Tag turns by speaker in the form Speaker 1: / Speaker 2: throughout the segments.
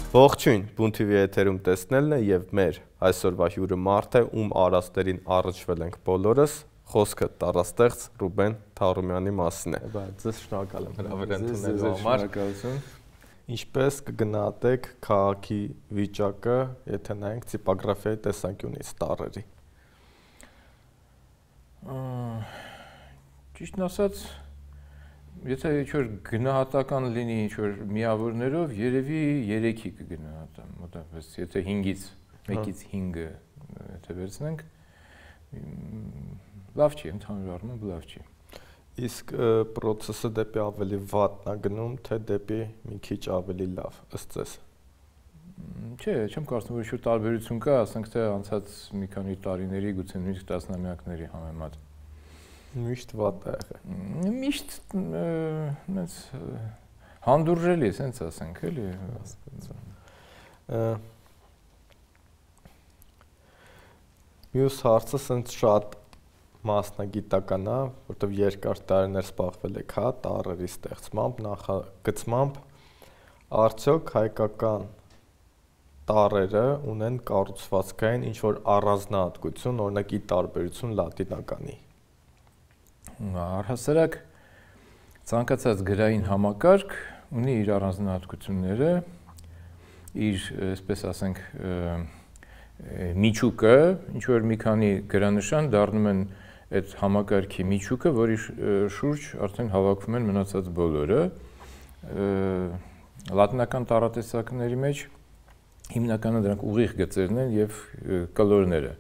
Speaker 1: Ողջույն, Բուն TV եթերում տեսնելն է եւ մեր այսօրվա հյուրը մարդ է, ում արասներին առնչվել ենք բոլորս, խոսքը տարաստեղծ Ռուբեն Թառումյանի մասին է։ Ձեզ շնորհակալ եմ հրավեր ընդունելու համար։ Ինչպես կգնահատեք քաղաքի վիճակը, եթե նայենք տիպոգրաֆիայի տեսանկյունից տարրերի։
Speaker 2: Ճիշտն ասած, եթե ինչ-որ գնահատական լինի ինչ-որ միավորներով, երևի 3-ի կգնահատեմ, մոտավորապես, եթե 5-ից 1-ից 5-ը եթե վերցնենք, լավ չի, ընդհանուր առմամբ լավ չի։
Speaker 1: Իսկ process-ը դեպի ավելի վատն է գնում, թե դեպի մի քիչ ավելի լավ, ըստ ձեզ։
Speaker 2: Չէ, չեմ կարծում, որ ինչ-որ տարբերություն կա, ասենք թե անցած մի քանի տարիների, գուցե նույնիսկ տասնամյակների համեմատ։
Speaker 1: Միշտ վատ է եղել։
Speaker 2: Միշտ այնց հանդուրժելի է, ասենց ասենք, էլի։
Speaker 1: Մյուս հարցը ասենց շատ մասնագիտական է, որտեղ երկար տարիներ զբաղվել եք տառերի ստեղծմամբ, նախագծմամբ, արդյոք հայկական տառերը ունեն կառուցվածքային ինչ-որ առանձնահատկություն, օրինակ ի տարբերություն լատինականի։
Speaker 2: Առհասարակ ցանկացած գրային համակարգ ունի իր առանձնահատկությունները, իր, այսպես ասենք, միջուկը, ինչ որ մի քանի գրանշան դառնում են այդ համակարգի միջուկը, որի շուրջ արդեն հավաքվում են մնացած բոլորը։ Լատինական տառատեսակների մեջ հիմնականը դրանք ուղիղ գծերն են եւ կլորները։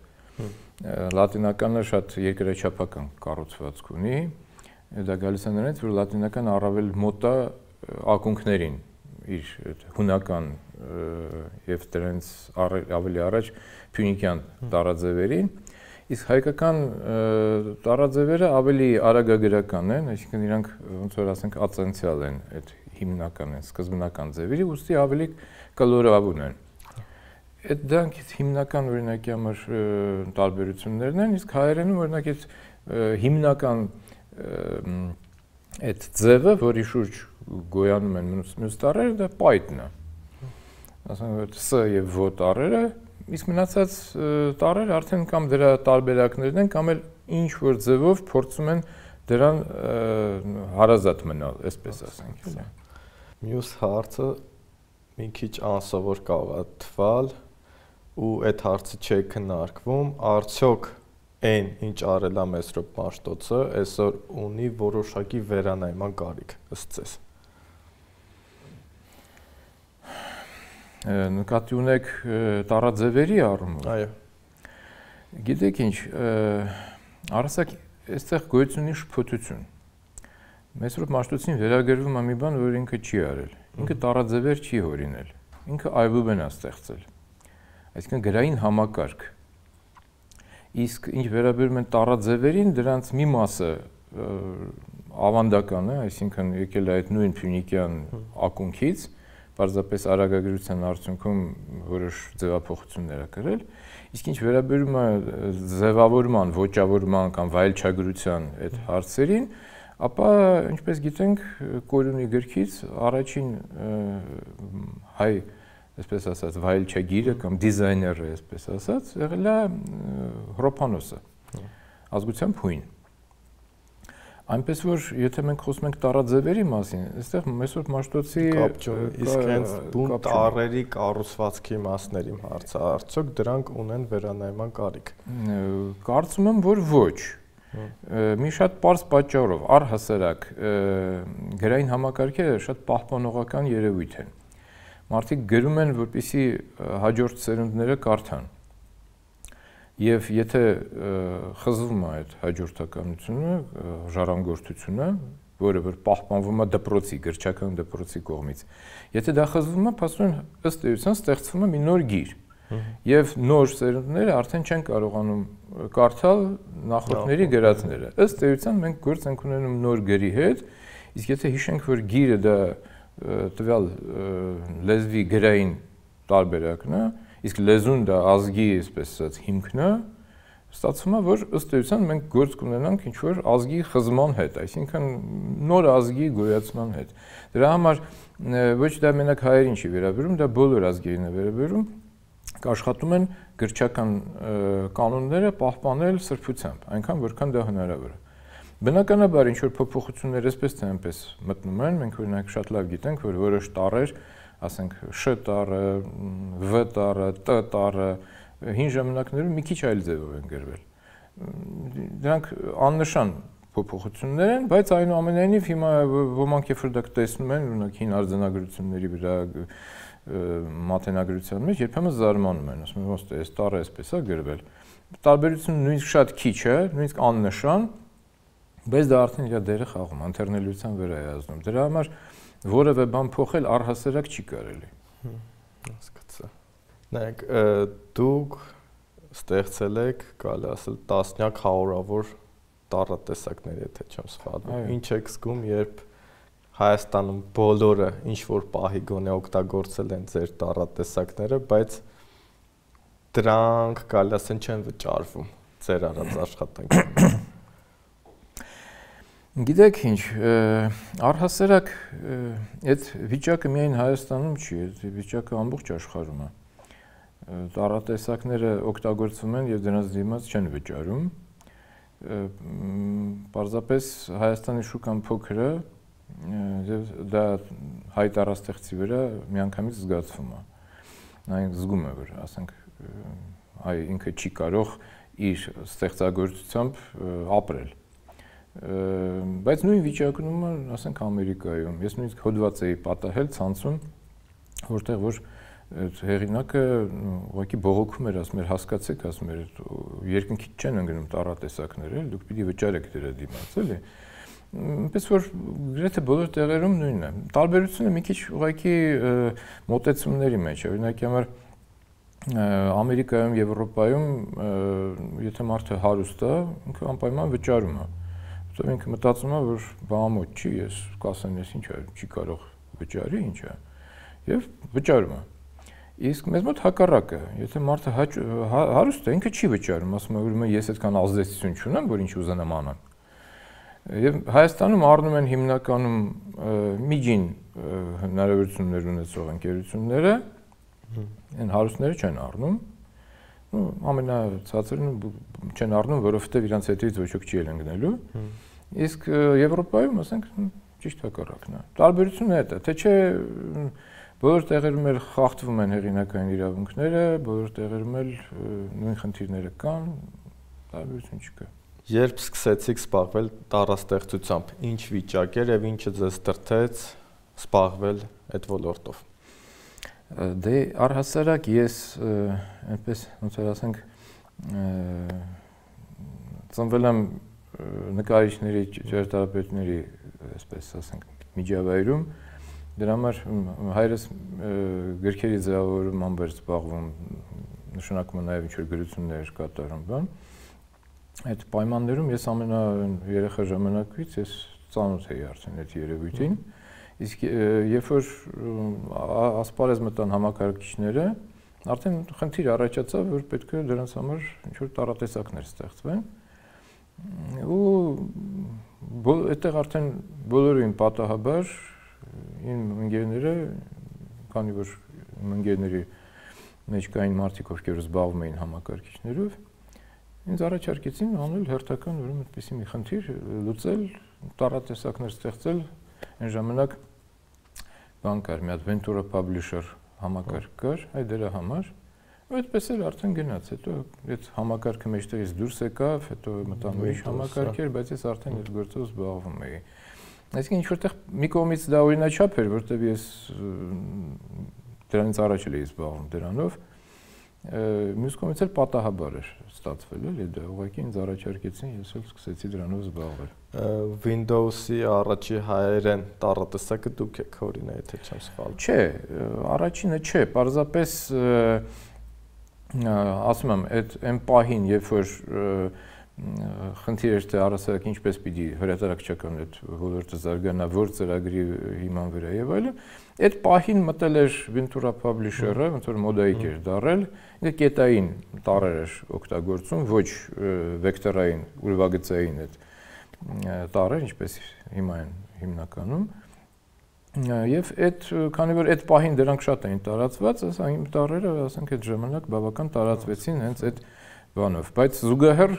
Speaker 2: Լատինականը շատ երկրաչափական կառուցվածք ունի, դա գալիս է նրանից, որ լատինական առավել մոտ է ակունքներին, իր հունական եւ դրանց ավելի առաջ փյունիկյան տառաձևերին, իսկ հայկական տառաձևերը ավելի արագագրական են, այսինքն իրանք ոնց որ ասենք ացենցիալ են, այդ հիմնական են, սկզբնական ձևերի, ուստի ավելի կլորավուն են։ Այդ դրանքից հիմնական օրինակի համար տարբերություններն են, իսկ հայերենում օրինակ այդ հիմնական այդ ձևը, որի շուրջ գոյանում են մյուս տառերը, դա պայթն է։ Ասենք որ Ս եւ Վ տառերը, իսկ մնացած տառերը արդեն կամ դրա տարբերակներն են, կամ էլ ինչ որ ձևով փորձում են դրան հարազատ մնալ, այսպես ասենք։
Speaker 1: Մյուս հարցը մի քիչ անսովոր կարող է թվալ ու այդ հարցը չի քննարկվում, արդյոք այն ինչ արել է Մեսրոպ Մաշտոցը, այսօր ունի որոշակի վերանայման կարիք, ըստ ձեզ։
Speaker 2: Նկատի ունեք տառաձևերի առումով։
Speaker 1: Այո։
Speaker 2: Գիտեք ինչ, առասակ այստեղ գոյություն ունի շփոթություն։ Մեսրոպ Մաշտոցին վերագրվում է մի բան, որ ինքը չի արել։ Ինքը տառաձևեր չի հորինել։ Ինքը այբուբեն է ստեղծել։ Այսինքն գրային համակարգ։ Իսկ ինչ վերաբերում են տառաձևերին, դրանց մի մասը ավանդական է, այսինքն եկել է այդ նույն փյունիկյան ակունքից, պարզապես արագագրության արդյունքում որոշ ձևափոխություններ ա կրել, իսկ ինչ վերաբերում է ձևավորման, ոճավորման կամ վայելչագրության այդ հարցերին, ապա ինչպես գիտենք, Կորյունի գրքից առաջին հայ, այսպես ասած, վայելչագիրը կամ դիզայները, այսպես ասած, եղել է Հռոփանոսը, ազգությամբ հույն։ Այնպես որ, եթե մենք խոսում ենք տառաձևերի մասին, այստեղ Մեսրոպ Մաշտոցի
Speaker 1: իսկ հենց բուն տառերի կառուցվածքի մասների հարցը, արդյոք դրանք ունեն վերանայման կարիք։
Speaker 2: Կարծում եմ, որ ոչ։ Մի շատ պարզ պատճառով, առհասարակ գրային համակարգերը շատ պահպանողական երևույթ են։ Մարդիկ գրում են, որպեսզի հաջորդ սերունդները կարդան։ Եվ եթե խզվում է այդ հաջորդականությունը, ժառանգորդությունը, որը որ պահպանվում է դպրոցի, գրչական դպրոցի կողմից, եթե դա խզվում է, փաստորեն ըստ էության ստեղծվում է մի նոր գիր։ Եվ նոր սերունդները արդեն չեն կարողանում կարդալ նախորդների գրածները։ Ըստ էության մենք գործ ենք ունենում նոր գրի հետ, իսկ եթե հիշենք, որ գիրը դա տվյալ լեզվի գրային տարբերակն է, իսկ լեզուն դա ազգի, այսպես ասած, հիմքն է, Ստացվում է, որ ըստ էության մենք գործ կունենանք ինչ-որ ազգի խզման հետ, այսինքն նոր ազգի գոյացման հետ։ Դրա համար ոչ դա մենակ հայերին չի վերաբերում, դա բոլոր ազգերին է վերաբերում, աշխատում են գրչական կանոնները պահպանել սրբությամբ, այնքան որքան դա հնարավոր է։ Բնականաբար ինչ-որ փոփոխություններ այսպես թե այնպես մտնում են, մենք օրինակ շատ լավ գիտենք, որ որոշ տառեր, ասենք Շ տառը, V տառը, Տ տառը հին ժամանակներում մի քիչ այլ ձևով են գրվել։ Դրանք աննշան փոփոխություններ են, բայց այնուամենայնիվ հիմա ոմանք երբ որ դա տեսնում են, օրինակ հին արձանագրությունների վրա մաթեմատիկության մեջ երբեմն զարմանում են, ասում են, ոնց է, այս տառը այսպես է գրվել։ Տարբերությունը նույնիսկ շատ քիչ է, նույնիսկ աննշան, բայց դա արդեն իր դերը խաղում, ընթերնելիության վրա է ազդում։ Դրա համար որևէ բան փոխել առհասարակ չի կարելի։
Speaker 1: Հասկացա։ Նայեք, դուք ստեղծել եք, կարելի ասել, տասնյակ հարյուրավոր տառատեսակներ, եթե չեմ սխալվում։ Ինչ եք զգում, երբ Հայաստանում բոլորը ինչ որ պահի գոնե օգտագործել են ձեր տառատեսակները, բայց դրանք կարելի ասել չեն վճարվում ձեր արած աշխատանքին։
Speaker 2: Գիտեք ինչ, առհասարակ այդ վիճակը միայն Հայաստանում չի, այդ վիճակը ամբողջ աշխարհում է։ Տառատեսակները օգտագործվում են եւ դրանց դիմաց չեն վճարում։ Պարզապես Հայաստանի շուկան փոքր է եւ դա հայ տառաստեղծի վրա միանգամից զգացվում է։ Այն զգում է, որ ասենք հայ ինքը չի կարող իր ստեղծագործությամբ ապրել։ Բայց նույն վիճակում է, ասենք Ամերիկայում։ Ես նույնիսկ հոդված էի պատահել ցանցում, որտեղ որ հեղինակը ուղղակի բողոքում էր, ասում էր, հասկացեք, ասում էր, երկնքից չեն ընկնում տառատեսակներ, էլ դուք պիտի վճարեք դրա դիմաց, էլի։ Այնպես որ գրեթե բոլոր տեղերում նույնն է։ Տարբերությունը մի քիչ ուղղակի մոտեցումների մեջ է։ Օրինակ համար Ամերիկայում, Եվրոպայում, եթե մարդը հարուստ է, ինքը անպայման վճարում է։ Որտեղ ինքը մտածում է, որ բամոտ չի, ես կասեմ, ես ինչ է, չի կարող վճարի, ինչ է, եւ վճարում է։ Իսկ մեզ մոտ հակառակը, եթե մարդը հարուստ է, ինքը չի վճարում, ասում է, որ ես այդքան ազդեցություն չունեմ, որ ինչ ուզենամ անեմ։ Եվ Հայաստանում առնում են հիմնականում միջին հնարավորություններ ունեցող ընկերությունները, այն հարուստները չեն առնում, ամենացածրն չեն առնում, որովհետև իրանց հետից ոչ ոք չի էլ ընկնելու, իսկ Եվրոպայում, ասենք, ճիշտ հակառակն է։ Տարբերությունը դա է, թե չէ բոլոր տեղերում էլ խախտվում են հեղինակային իրավունքները, բոլոր տեղերում էլ նույն խնդիրները կան, տարբերություն չկա։
Speaker 1: Երբ սկսեցիք զբաղվել տառաստեղծությամբ, ինչ վիճակ էր եւ ինչը ձեզ դրդեց զբաղվել այդ ոլորտով։
Speaker 2: Դե առհասարակ ես այնպես ոնց որ ասենք ծնվել եմ նկարիչների, ճարտարապետների, այսպես ասենք, միջավայրում, դրա համար հայրս գրքերի ձևավորմամբ էր զբաղվում, նշանակում է նաեւ ինչ որ գրություններ կատարում, բան։ Այդ պայմաններում ես երեխա ժամանակից ես ծանոթ էի արդեն այդ երևույթին, իսկ երբ որ ասպարեզ մտան համակարգիչները, արդեն խնդիր առաջացավ, որ պետք է դրանց համար ինչ-որ տառատեսակներ ստեղծվեն, ու այդտեղ արդեն բոլորին պատահաբար իմ ընկերները, քանի որ իմ ընկերների մեջ կային մարդիկ, ովքեր զբաղվում էին համակարգիչներով, ինձ առաջարկեցին անել հերթական ուրեմն այդպիսի մի խնդիր լուծել, տառատեսակներ ստեղծել, այն ժամանակ բան կար, մի հատ Ventura Publisher համակարգ կար, այ դրա համար, ու այդպես էլ արդեն գնաց, հետո այդ համակարգը մեջտեղից դուրս եկավ, հետո մտան ուրիշ համակարգեր, բայց ես արդեն այդ գործով զբաղվում էի։ Այսինքն ինչ-որտեղ մի կողմից դա օրինաչափ էր, որտեղ ես դրանից առաջ էի զբաղվում դրանով, մյուս կողմից էլ պատահաբար էր ստացվել, էլի դա ուղղակի ինձ առաջարկեցին, ես էլ սկսեցի դրանով զբաղվել։
Speaker 1: Windows-ի առաջի հայերեն տառատեսակը դուք եք օրինակ, եթե չեմ սխալվում։
Speaker 2: Չէ, առաջինը չէ, պարզապես ասում եմ, այդ այն պահին, երբ որ խնդիր էր թե առասարակ ինչպես պիտի հրատարակչական այդ ոլորտը զարգանա, որ ծրագրի հիման վրա եւ այլն, այդ պահին մտել էր Ventura Publisher-ը, ոնց որ մոդայիկ էր դարել, ինքը կետային տառեր էր օգտագործում, ոչ վեկտորային, ուրվագծային այդ տառեր, ինչպես հիմա են հիմնականում։ Եվ այդ քանի որ այդ պահին դրանք շատ էին տարածված, այս տառերը, ասենք այդ ժամանակ բավական տարածվեցին հենց այդ բանով, բայց զուգահեռ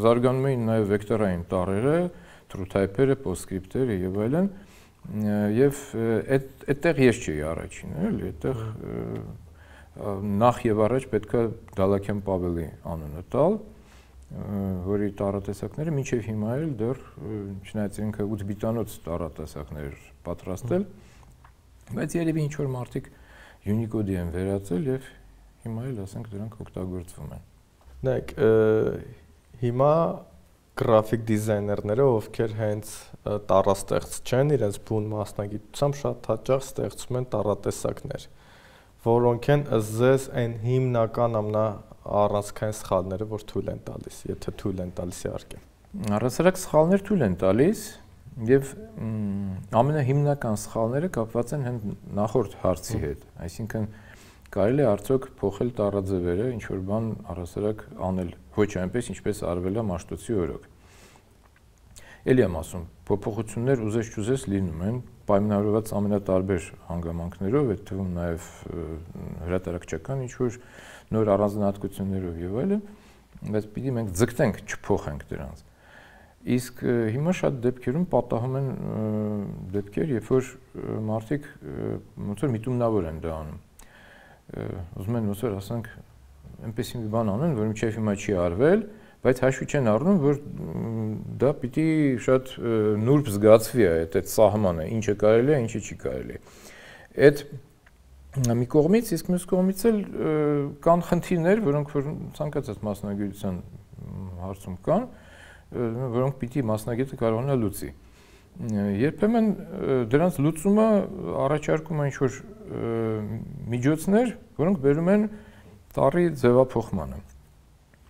Speaker 2: զարգանում էին նաև վեկտորային տառերը, true type-երը, postscript-երը եւ այլն, եւ այդտեղ ես չէի առաջինը, էլի, այդտեղ նախ եւ առաջ պետքա Դալաքյան Պավելի անունը տալ, որի տառատեսակները մինչև հիմա էլ դեռ չնայած ինքը 8 բիտանոց տառատեսակներ պատրաստել, բայց երևի ինչ որ մարդիկ Unicode-ի են վերածել եւ հիմա էլ ասենք դրանք օգտագործվում են։
Speaker 1: Նայեք, հիմա գրաֆիկ դիզայներները, ովքեր հենց տառաստեղծ չեն, իրենց բուն մասնագիտությամբ շատ հաճախ ստեղծում են տառատեսակներ, որոնք են ըստ այն հիմնական առանցքային սխալները, որ թույլ են տալիս, եթե թույլ են տալիս իհարկե։
Speaker 2: Առասարակ սխալներ թույլ են տալիս եւ ամենահիմնական սխալները կապված են հենց նախորդ հարցի հետ, այսինքն կարելի է արդյոք փոխել տառաձևերը, ինչ որ բան առասարակ անել ոչ այնպես, ինչպես արվել է Մաշտոցի օրոք։ Էլի եմ ասում, փոփոխություններ ուզես չուզես լինում են, պայմանավորված ամենատարբեր հանգամանքներով, այդ թվում նաև հրատարակչական ինչ որ նոր առանձնահատկություններով եւ այլն, բայց պիտի մենք ձգտենք չփոխենք դրանց։ Իսկ հիմա շատ դեպքերում պատահում են դեպքեր, երբ որ մարդիկ ոնց որ միտումնավոր են դա անում։ Ուզում են ոնց որ ասենք այնպես մի բան անեն, որ մինչև հիմա չի արվել, բայց հաշվի չեն առնում, որ դա պիտի շատ նուրբ զգացվի այդ սահմանը, ինչը կարելի է, ինչը չի կարելի։ Այդ մի կողմից, իսկ մյուս կողմից էլ կան խնդիրներ, որոնք որ ցանկացած մասնագիտության հարցում կան, որոնք պիտի մասնագետը կարողանա լուծի։ Երբեմն դրանց լուծումը առաջարկում է ինչ-որ միջոցներ, որոնք բերում են տառի ձևափոխմանը։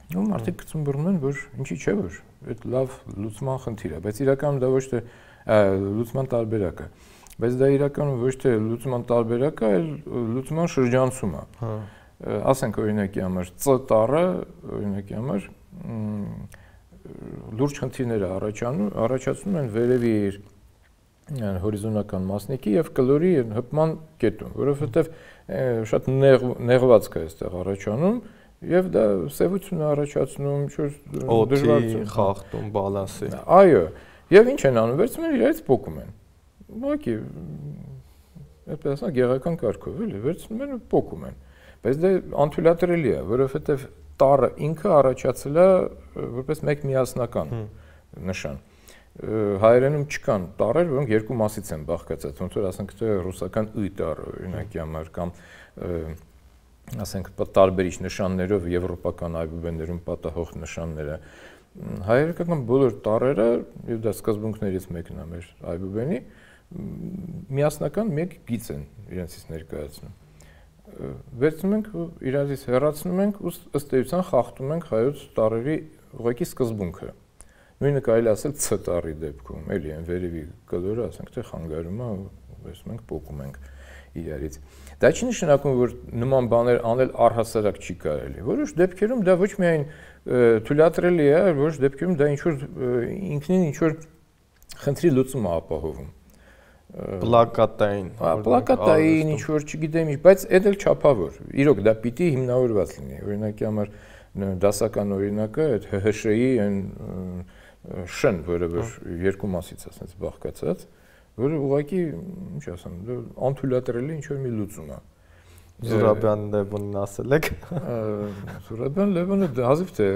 Speaker 2: Ու մարդիկ գցում են, որ ինչի՞ չէ, որ այդ լավ լուծման խնդիր է, բայց իրականում դա ոչ թե լուծման տարբերակ է, բայց դա իրականում ոչ թե լուծման տարբերակ է, այլ լուծման շրջանցում է։ Ասենք օրինակի համար C տառը, օրինակի համար լուրջ խնդիրներ առաջացնում են վերևի հորիզոնական մասնիկի եւ կլորի հպման կետում, որովհետեւ շատ նեղվածք է այստեղ առաջանում եւ դա սևություն է առաջացնում,
Speaker 1: դժվարություն խախտում բալանսի։
Speaker 2: Այո, եւ ինչ են անում, վերցնում են իրարից փոկում են։ Ուղղակի այդպես ասած գեղական կարգով էլի, վերցնում են ու փոկում են։ Բայց դա անթույլատրելի է, որովհետեւ տառը ինքը առաջացել է որպես մեկ միասնական նշան։ Հայերենում չկան տառեր, որոնք երկու մասից են բաղկացած, ոնց որ ասենք թե ռուսական ը տառը օրինակի համար կամ ասենք տարբերիչ նշաններով եվրոպական այբուբեններում պատահող նշանները։ Հայերական բոլոր տառերը, եւ դա սկզբունքներից մեկն է մեր այբուբենի, միասնական մեկ գիծ են իրենցից ներկայացնում։ Վերցնում ենք ու իրարից հեռացնում ենք ու ըստ էության խախտում ենք հայոց տառերի ուղղակի սկզբունքը։ Նույնը կարելի ասել C տառի դեպքում, էլի այն վերևի կլորը, ասենք թե խանգարում է, վերցնում ենք, փոկում ենք իրարից։ Դա չի նշանակում, որ նման բաներ անել առհասարակ չի կարելի։ Որոշ դեպքերում դա ոչ միայն թույլատրելի է, որոշ դեպքերում դա ինչ որ ինքնին ինչ որ խնդրի լուծում է ապահովում։
Speaker 1: Պլակատային
Speaker 2: ինչ որ չգիտեմ ինչ, բայց այդ էլ չափավոր։ Իրոք դա պիտի հիմնավորված լինի։ Օրինակի համար դասական օրինակը այդ ՀՀՇ-ի այն շն, որը երկու մասից ասած բաղկացած, որը ուղղակի, ինչ ասեմ, անթույլատրելի ինչ որ մի լուծում է։
Speaker 1: Զուրաբյան Լևոնին ասել եք։
Speaker 2: Զուրաբյան Լևոնը հազիվ թե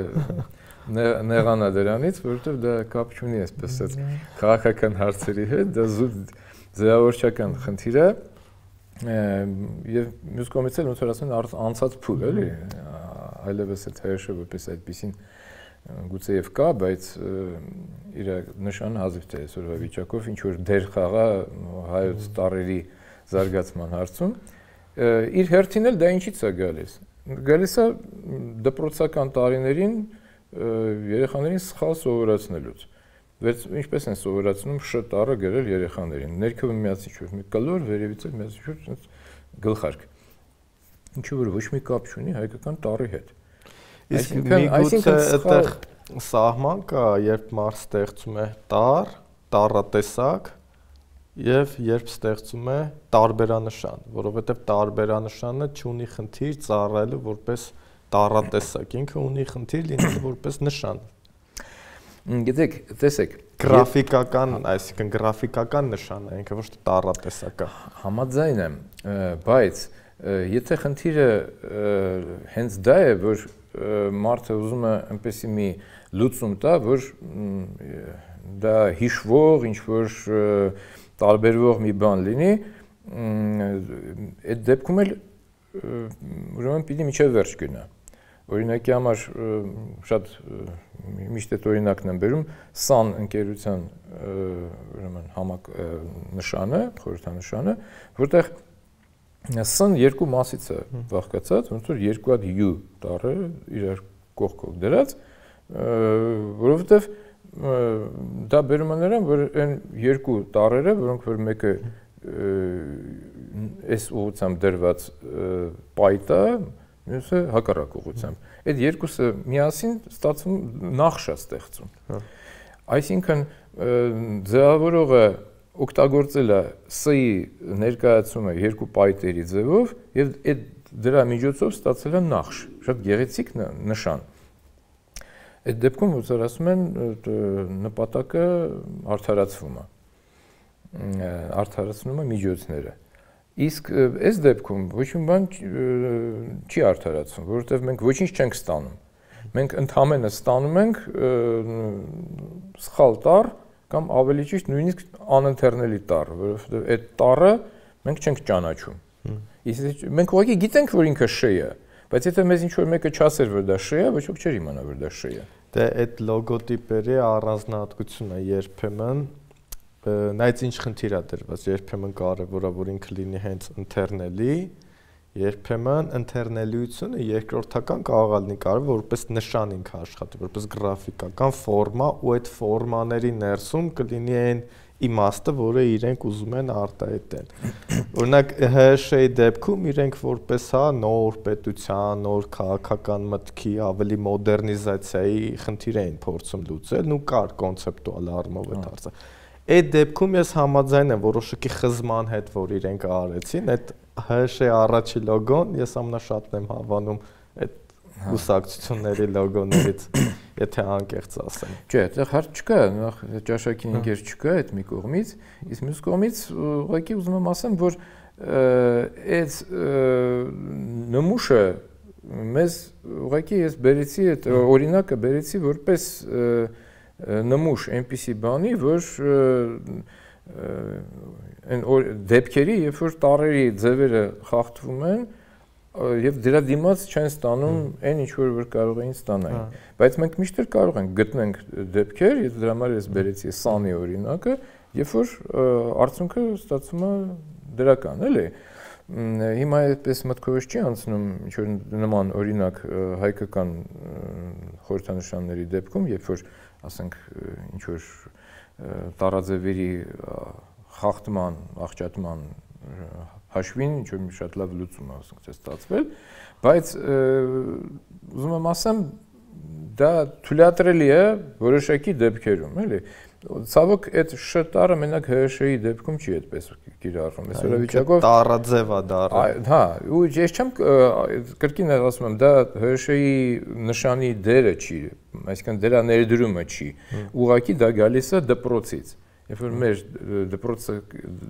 Speaker 2: նեղանա դրանից, որովհետև դա կապ չունի այսպես քաղաքական հարցերի հետ, դա զուտ ձևավորչական խնդիր է եւ մյուս կողմից էլ ոնց որ ասեն անցած փուլ էլի այլևս այդ ՀՀՇ-ը որպես այդպեսին գուցեև կա, բայց իր նշանը հազիվ թե այսօրվա վիճակով ինչ որ դեր խաղա հայոց տառերի զարգացման հարցում իր հերթին էլ դա ինչից է գալիս։ Գալիս է դպրոցական տարիներին երեխաներին սխալ սովորացնելուց։ Ինչպես են սովորացնում Շ տառը գրել երեխաներին։ Ներքևը միացիչ որ մի կլոր, վերևից էլ միացիչ որ գլխարկ։ Ինչու որ ոչ մի կապ չունի հայկական տառի հետ։
Speaker 1: Այսինքն այդտեղ սահման կա, երբ մարդ ստեղծում է տառատեսակ եւ երբ ստեղծում է տարբերանշան, որովհետեւ տարբերանշանը չունի խնդիր ծառայելու որպես տառատեսակ, ինքը ունի խնդիր լինելու որպես նշան։
Speaker 2: Գիտեք, տեսեք,
Speaker 1: գրաֆիկական, այսինքն գրաֆիկական նշան է, ինքը ոչ թե տառատեսակ է։
Speaker 2: Համաձայն եմ, բայց եթե խնդիրը հենց դա է, որ մարդը ուզում է այնպեսի մի լուծում տա, որ դա հիշվող, ինչ-որ տարբերվող մի բան լինի, այդ դեպքում էլ ուրեմն պիտի միջև վերջ գնա։ Օրինակի համար շատ միշտ այդ օրինակն եմ բերում SAN ընկերության ուրեմն նշանը, խորհրդանշանը, որտեղ SAN երկու մասից է բաղկացած, ոնց որ երկու հատ U տառը իրար կողքով դրած, որովհետև դա բերում է նրան, որ այն երկու տառերը, որոնք որ մեկը այս ուղղությամբ դրված պայտ է, մյուսը հակառակ ուղղությամբ։ Այդ երկուսը միասին ստացվում նախշ է ստեղծում։ Այսինքն ձևավորողը օգտագործել է S-ի ներկայացումը երկու պայտերի ձևով եւ այդ դրա միջոցով ստացել է նախշ, շատ գեղեցիկ նշան։ Այդ դեպքում ուսեր ասում են նպատակը արդարացվում է։ Արդարացնում է միջոցները։ Իսկ այս դեպքում ոչ մի բան չի արդարացվում, որովհետև մենք ոչինչ չենք ստանում։ Մենք ընդհանրապես ստանում ենք սխալ տառ կամ ավելի ճիշտ նույնիսկ անընթեռնելի տառ, որովհետև այդ տառը մենք չենք ճանաչում։ Իսկ մենք ուղղակի գիտենք, որ ինքը Շ է, բայց եթե մեզ ինչ-որ մեկը չասեր, որ դա Շ է, ոչ ոք չէր իմանա, որ դա Շ է։
Speaker 1: Դե այդ լոգոտիպերի առանձնահատկությունը երբեմն նայած ինչ խնդիր է դրված, երբեմն կարևոր է, որ ինքը լինի հենց ընթեռնելի, երբեմն ընթեռնելիությունը երկրորդական կարող է լինի կարևոր, որպես նշան ինքը աշխատի, որպես գրաֆիկական ֆորմա ու այդ ֆորմաների ներսում կլինի այն իմաստը, որը իրենք ուզում են արտահայտել։ Օրինակ ՀՀՇ-ի դեպքում իրենք որպես նոր պետության, նոր քաղաքական մտքի, ավելի մոդեռնիզացիայի խնդիր էին փորձում լուծել, ու կար կոնցեպտուալ առումով այդ հարցը։ Այդ դեպքում ես համաձայն եմ որոշակի խզման հետ, որ իրենք արեցին, այդ ՀՀՇ-ի առաջի լոգոն ես ամենաշատն եմ հավանում այդ կուսակցությունների լոգոներից, եթե անկեղծ ասեմ։
Speaker 2: Չէ, այդտեղ հարց չկա, նախ ճաշակին ինքեր չկա այդ մի կողմից, իսկ մյուս կողմից ուղղակի ուզում եմ ասեմ, որ այդ նմուշը մեզ ուղղակի ես բերեցի այդ օրինակը բերեցի որպես նմուշ այնպիսի բանի, որ այն դեպքերի, երբ որ տառերի ձևերը խախտվում են, եւ դրա դիմաց չեն ստանում այն ինչ որ կարող էին ստանալ։ Բայց մենք միշտ կարող ենք գտնենք դեպքեր, եթե դրա համար ես բերեցի SAN-ի օրինակը, երբ որ արդյունքը ստացվում է դրական, էլի։ Հիմա այդպես մտքովս չի անցնում ինչ որ նման օրինակ հայկական խորհրդանշանների դեպքում, երբ որ ասենք ինչ որ տարաձևերի խախտման, աղճատման հաշվին ինչ որ շատ լավ լուծում է ասենք ստացվել, բայց ուզում եմ ասեմ դա թույլատրելի է որոշակի դեպքերում, էլի։ Ցավոք այդ Շ տառը մենակ ՀՀՇ-ի դեպքում չի այդպես կիրառվում։ Այս օրավիճակով
Speaker 1: տառաձև է դառը։
Speaker 2: Հա, ու ես չեմ կրկին ասում եմ, դա ՀՀՇ-ի նշանի դերը չի, այսինքն դրա ներդրումը չի։ Ուղղակի դա գալիս է դպրոցից։ Երբ որ մեր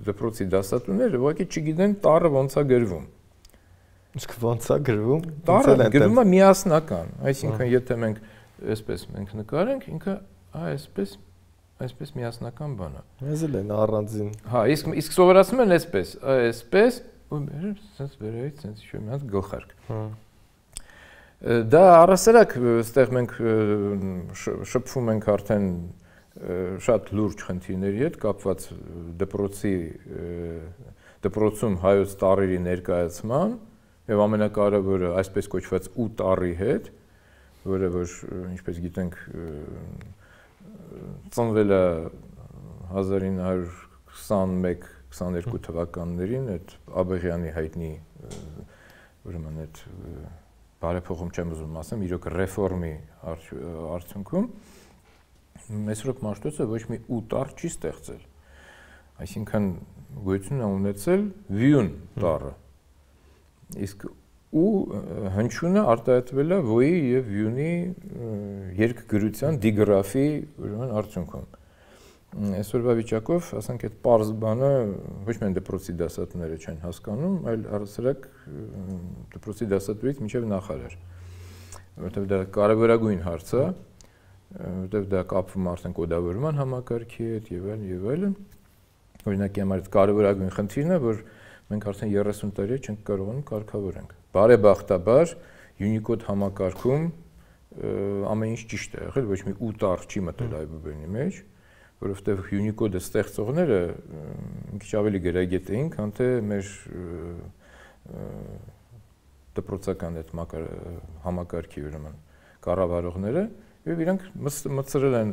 Speaker 2: դպրոցի դասատուները ուղղակի չգիտեն տառը ոնց է գրվում։
Speaker 1: Իսկ ոնց է գրվում։
Speaker 2: Տառը գրվում է միասնական, այսինքն եթե մենք այսպես մենք նկարենք, ինքը այսպես միասնական բան է։
Speaker 1: Մեզ էլ են առանձին։
Speaker 2: Հա, իսկ սովորացնում են այսպես, ու sense վերայից sense ինչ-որ մի հատ գլխարկ։ Դա առասարակ այստեղ մենք շփվում ենք արդեն շատ լուրջ խնդիրների հետ կապված դպրոցում հայոց տառերի ներկայացման եւ ամենակարևորը այսպես կոչված ու տառի հետ, որը որ ինչպես գիտենք ծնվել է 1921-22 թվականներին այդ Աբեղյանի հայտնի ուրեմն այդ բարեփոխում չեմ ուզում ասեմ, իրոք ռեֆորմի արդյունքում Մեսրոպ Մաշտոցը ոչ մի ուտար չի ստեղծել։ Այսինքն գոյություն է ունեցել վյուն տառը։ Իսկ ու հնչյունը արտահայտվել է ոյի եւ վյունի երկգրության դիգրաֆի ուրեմն արդյունքում։ Այսօրվա վիճակով, ասենք այդ պարզ բանը ոչ միայն դպրոցի դասատուները չեն հասկանում, այլ առասարակ դպրոցի դասատուից մինչև նախարար։ Որտեղ դա կարևորագույն հարց է, որտեղ դա կապվում արդեն կոդավորման համակարգի հետ եւ այլն։ Օրինակի համար կարևորագույն խնդիրն է, որ մենք արդեն 30 տարի չենք կարողանում կարգավորենք։ Բարեբախտաբար Unicode համակարգում ամեն ինչ ճիշտ է եղել, ոչ մի ուտար չի մտել iBook-ի մեջ, որովհետև Unicode-ը ստեղծողները մի քիչ ավելի գրագետ էին, քան թե մեր դպրոցական այդ համակարգի ուրեմն կառավարողները, եւ իրանք մտցրել են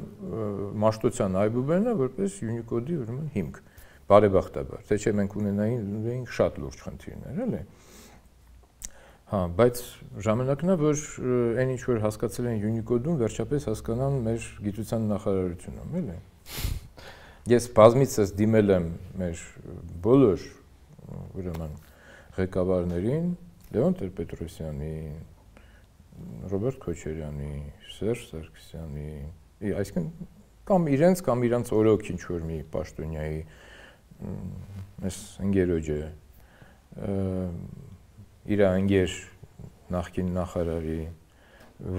Speaker 2: մաշտոցյան iBook-ը որպես Unicode-ի ուրեմն հիմք։ Բարեբախտաբար, թե չէ մենք ունենայինք շատ լուրջ խնդիրներ, էլի։ Հա, բայց ժամանակն է, որ այն ինչ որ հասկացել են Unicode-ում, վերջապես հասկանան մեր գիտության նախարարությունում, էլի։ Ես բազմիցս դիմել եմ մեր բոլոր ուրեմն ղեկավարներին, Լևոն Տեր-Պետրոսյանի, Ռոբերտ Քոչարյանի, Սերժ Սարգսյանի, այսինքն կամ իրանց օրոք ինչ որ մի պաշտոնյայի այս ընկերոջը իր ընկեր նախկին նախարարի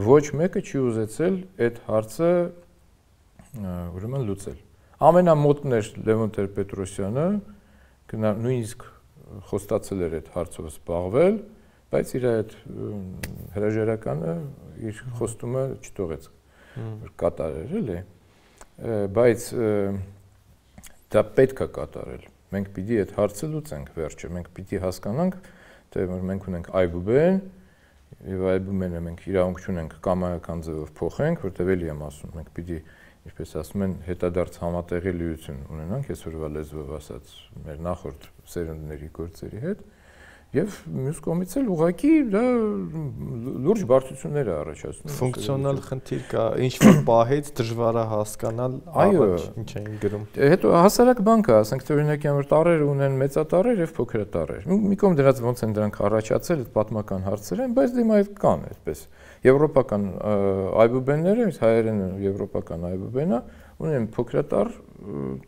Speaker 2: ոչ մեկը չի ուզեցել այդ հարցը ուրեմն լուծել։ Ամենամոտն էր Լևոն Տեր-Պետրոսյանը, նույնիսկ խոստացել էր այդ հարցով զբաղվել, բայց իր այդ հրաժարականը իր խոստումը չթողեց կատարել, էլի։ Բայց դա պետք է կատարել։ Մենք պիտի այդ հարցը լուծենք վերջը, մենք պիտի հասկանանք, թե որ մենք ունենք iBook-ն, եւ iBook-ը մենք իրավունք չունենք կամայական ձևով փոխենք, որտեղ էլի եմ ասում, մենք պիտի, ինչպես ասում են, հետադարձ համատեղելիություն ունենանք, այսօրվա լեզվով ասած, մեր նախորդ սերունդների գործերի հետ, եւ մյուս կողմից էլ ուղղակի դա լուրջ բարդություններ է առաջացնում։
Speaker 1: Ֆունկցիոնալ խնդիր կա, ինչ որ պահից դժվար է հասկանալ, առաջ ինչ են գրում։
Speaker 2: Հետո հասարակ բան կա, ասենք թե օրինակի համար տառերը ունեն մեծատառեր եւ փոքրատառեր։ Մի կողմ դրանց ոնց են դրանք առաջացել, այդ պատմական հարցեր են, բայց դիմա այդ կան այդպես։ Եվրոպական iBook-ները, հայերեն եվրոպական iBook-ը ունեն փոքրատառ,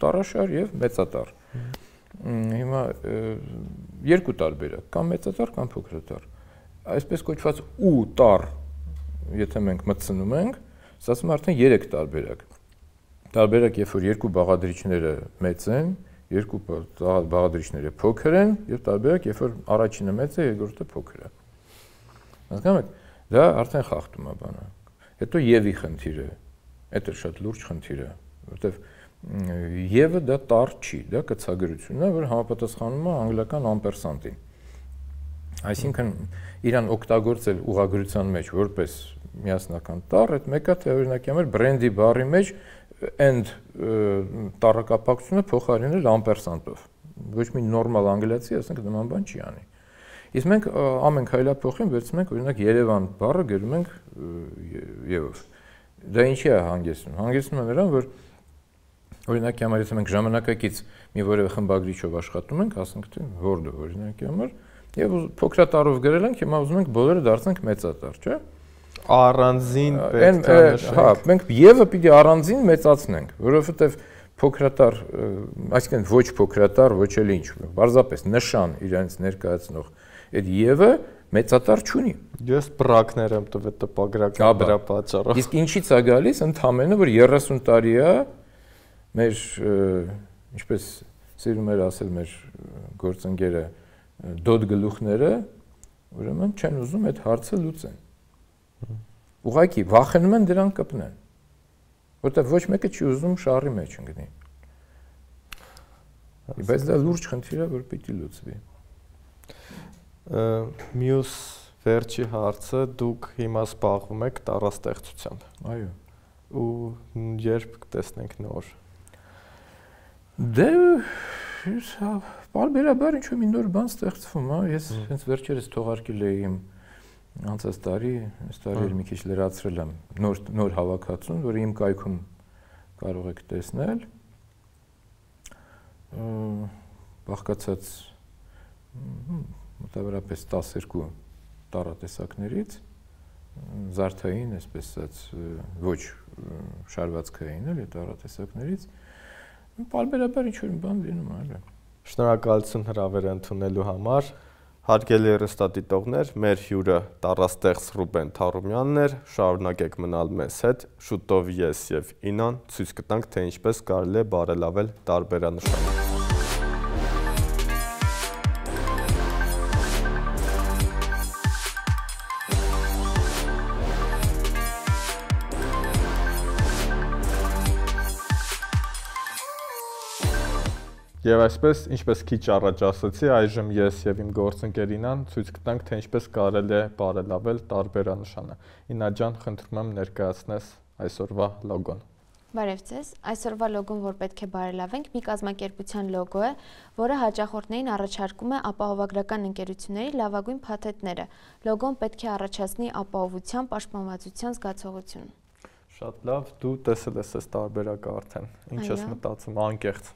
Speaker 2: տառաշար եւ մեծատառ։ Հիմա երկու տարբերակ, կամ մեծատառ, կամ փոքրատառ։ Այսպես կոչված ու տառ, եթե մենք մտցնում ենք, ասում արդեն 3 տարբերակ։ Տարբերակ, երբ որ երկու բաղադրիչները մեծ են, երկու բաղադրիչները փոքր են, եւ տարբերակ, երբ որ առաջինը մեծ է, երկրորդը փոքր է։ Հասկանում եք, դա արդեն խախտում է բանը։ Հետո եւի խնդիրը, դա շատ լուրջ խնդիր է, որովհետեւ Եվը դա տառ չի, դա կցագրությունն է, որ համապատասխանում է անգլիական ամպերսանտին։ Այսինքն իրան օգտագործել ուղղագրության մեջ որպես միասնական տառ, այդ մեկը թե օրինակի համար բրենդի բառի մեջ end տառակապակցությունը փոխարինել ամպերսանտով։ Ոչ մի նորմալ անգլիացի, ասենք նման բան չի անի։ Իսկ մենք ամեն քայլափոխին վերցնում ենք օրինակ Երևան բառը գրում ենք Եվով։ Դա ինչի է հանգեցնում։ Հանգեցնում է նրան, որ օրինակի համար եթե մենք ժամանակակից մի որևէ խմբագրիչով աշխատում ենք, ասենք թե Word-ը օրինակի համար, եւ փոքրատառով գրել ենք, հիմա ուզում ենք բոլորը դարձնենք մեծատառ, չէ՞։
Speaker 1: Առանձին պետք է նշենք։
Speaker 2: Հա, մենք Եվը պիտի առանձին մեծացնենք, որովհետեւ փոքրատառ, այսինքն ոչ փոքրատառ, ոչ էլ ինչ, բարձրապես նշան իրենց ներկայացնող այդ Եվը մեծատառ չունի։
Speaker 1: Ես բրակներ եմ տվել տպագրական դրա պատճառով։
Speaker 2: Իսկ ինչի՞ց է գալիս, ընդհանրապես որ 30 տարի է մեր ինչպես սիրում էր ասել մեր գործընկերը դոդ գլուխները ուրեմն չեն ուզում այդ հարցը լուծեն։ Ուղղակի վախենում են դրան կպնեն։ Որտեղ ոչ մեկը չի ուզում շարի մեջ ընկնի։ Բայց դա լուրջ խնդիր է, որ պիտի լուծվի։
Speaker 1: Մյուս Վերջի հարցը դուք հիմա զբաղվում եք տառաստեղծությամբ։
Speaker 2: Այո։
Speaker 1: Ու երբ կտեսնենք նոր։
Speaker 2: Դե բարբերաբար ինչ-որ մի նոր բան ստեղծվում, հա, ես հենց վերջերս թողարկել էի իմ անցած տարի, այս տարի էլ մի քիչ լրացրել եմ նոր հավաքածուն, որը իմ կայքում կարող եք տեսնել։ Բաղկացած մոտավորապես 12 տառատեսակներից, զարդային, այսպես ասած, ոչ շարվածքային էլի տառատեսակներից, բարբերաբար ինչ-որ բան լինում է։
Speaker 1: Շնորհակալություն հրավերը ընդունելու համար։ Հարգելի հեռուստադիտողներ, մեր հյուրը տառաստեղծ Ռուբեն Թարումյանն էր, շարունակեք մնալ մեզ հետ, շուտով ես եւ Ինան ցույց կտանք, թե ինչպես կարելի է բարելավել տարբերանշանը։ Եվ այսպես, ինչպես քիչ առաջ ասացի, այժմ ես եւ իմ գործընկեր Ինան ցույց կտանք, թե ինչպես կարելի է բարելավել տարբերանշանը։ Ինա ջան, խնդրում եմ ներկայացնես այսօրվա լոգոն։
Speaker 3: Բարև ձեզ։ Այսօրվա լոգոն, որ պետք է բարելավենք, մի կազմակերպության լոգո է, որը հաճախորդներին առաջարկում է ապահովագրական ընկերությունների լավագույն փաթեթները։ Լոգոն պետք է առաջացնի ապահովության, պաշտպանվածության զգացողություն։
Speaker 1: Շատ լավ, դու տեսել ես այս տարբերակը արդեն։ Ինչ ես մտածում, անկեղծ։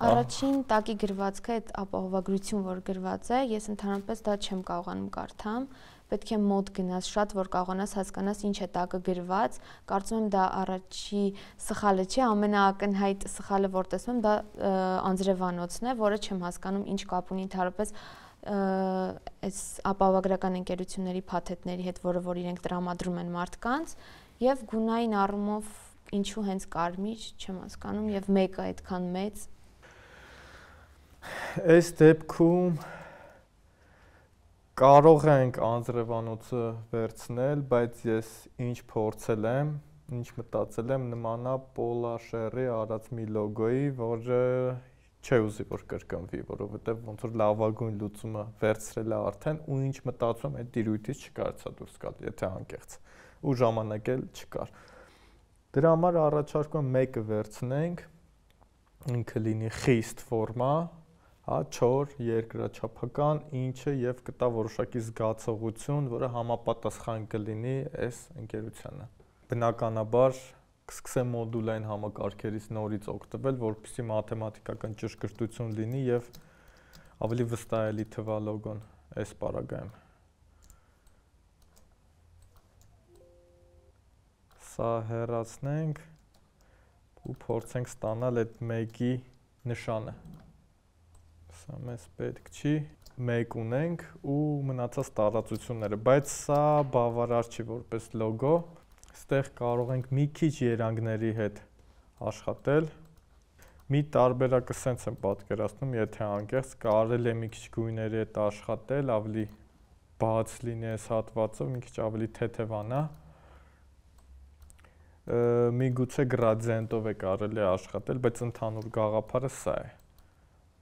Speaker 3: Առաջին տակի գրվածքը այդ ապահովագրություն, որ գրված է, ես ընդհանրապես դա չեմ կարողանում կարդամ, պետք է մոտ գնաս շատ, որ կարողանաս հասկանաս ինչ է տակը գրված, կարծում եմ դա առաջի սխալը չէ, ամենաակնհայտ սխալը, որ տեսնում եմ, դա անձրևանոցն է, որը չեմ հասկանում ինչ կապ ունի ընդհանրապես այս ապահովագրական ընկերությունների փաթեթների հետ, որ իրենք տրամադրում են մարդկանց, եւ գունային առումով ինչու հենց կարմիր, չեմ հասկանում, եւ մեկը այդքան մեծ։
Speaker 1: Այս դեպքում կարող ենք անձրևանոցը վերցնել, բայց ես ինչ փորձել եմ, ինչ մտածել եմ, նմանա Պոլաշերի արած մի լոգոյի, որը չի ուզի որ կրկնվի, որովհետև ոնց որ լավագույն լուծումը վերցրել է արդեն ու ինչ մտածում այդ տիրույթից չկարծա դուրս գալ, եթե անկեղծ ու ժամանակ էլ չկար։ Դրա համար առաջարկում եմ մեկը վերցնենք, ինքը լինի խիստ ֆորմա, հա, չոր, երկրաչափական, ինչը եւ կտա որոշակի զգացողություն, որը համապատասխան կլինի այս ընկերությանը։ Բնականաբար կսկսեմ մոդուլային համակարգերից նորից օգտվել, որպեսզի մաթեմատիկական ճշգրտություն լինի եւ ավելի վստահելի թվա լոգոն այս պարագայում։ Սա հեռացնենք ու փորձենք ստանալ այդ մեկի նշանը։ Սա մեզ պետք չի, մեկ ունենք ու մնացած տարածությունները, բայց սա բավարար չի որպես լոգո, այստեղ կարող ենք մի քիչ երանգների հետ աշխատել, մի տարբերակը սենց եմ պատկերացնում, եթե անկեղծ կարելի է մի քիչ գույների հետ աշխատել, ավելի բաց լինի այս հատվածով, մի քիչ ավելի թեթևանա, միգուցե գրադիենտով է կարելի աշխատել, բայց ընդհանուր գաղափարը սա է։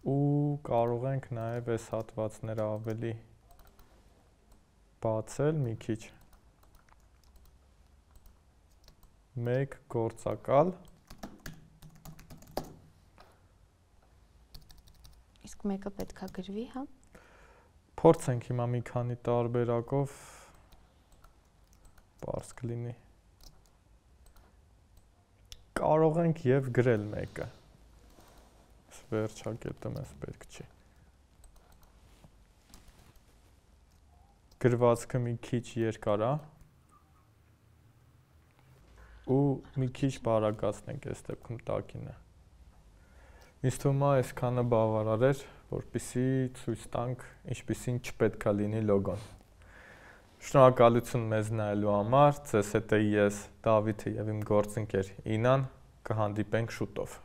Speaker 1: Ու կարող ենք նաև այս հատվածները ավելի բացել մի քիչ։ Մեկ գործակալ։
Speaker 3: Իսկ մեկը պետքա գրվի, հա։
Speaker 1: Փորձենք հիմա մի քանի տարբերակով պարզ կլինի։ Կարող ենք եւ գրել մեկը։ Վերջակետը մեզ պետք չի։ Գրվածքը մի քիչ երկար է ու մի քիչ բարակացնենք այս դեպքում տակինը։ Ինձ թվում է այսքանը բավարար էր, որպեսզի ցույց տանք ինչպիսին չպետք է լինի լոգոն։ Շնորհակալություն մեզ նայելու համար, ձեզ հետ եմ ես Դավիթը եւ իմ գործընկեր Ինան, կհանդիպենք շուտով։